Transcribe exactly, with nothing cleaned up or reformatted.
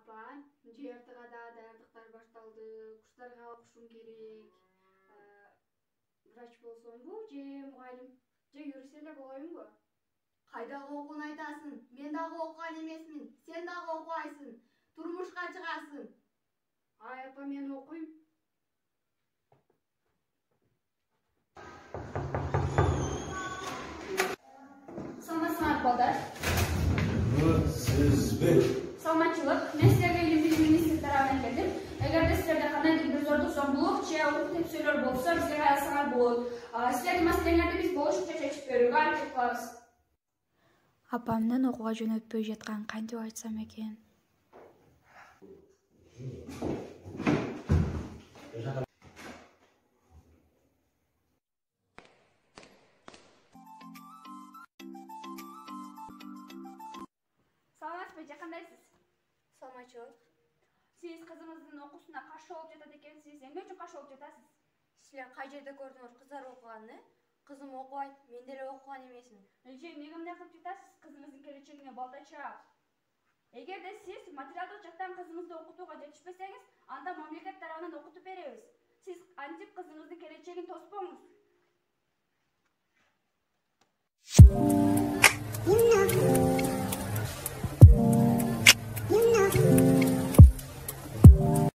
Апа, жертыга да даярдыктар башталды. Курстарга окушум керек. Врач болсомбу же мугалим же юрист эле болоюнбу? Кайдагы окууну айтасың? Мен дагы окуган эмесмин. Сен дагы окубайсың. Турмушка чыгасың. Ай апа, мен окуйм. Саламатсыңар балдар. Сизби? Саламатчылык. Мен силерге илим билим министри тарабынан келдим. Эгерде силерде кандайдыр бир зордук, зомбулук же укук тепсөлөр болсо, бизге кайрылсаңар болот. Силердин маселеңерди биз болушунча чечип берүүгө аракет кылабыз. Апамдын окууга жөнөтпөй жатканын кантип айтсам экен? Саламатсызбы, же кандайсыз? Саламатчылык. Сиз кызыңыздын окуусуна каршы болуп жатат экенсиз. Эмне үчүн каршы болуп жатасыз? Силер кай жерде көрдүңөр кыздар окуганын? Кызым окубайт, мен деле окуган эмесмин. Эже, эмнеге мындай кылып жатасыз? Кызыңыздын келечегине балда чаап. Эгерде сиз материалдык жактан кызыңызды окутууга жетишпесеңиз, анда мамлекет тарабынан окутуп беребиз. Сиз антип кызыңыздын келечегин тоспоңуз.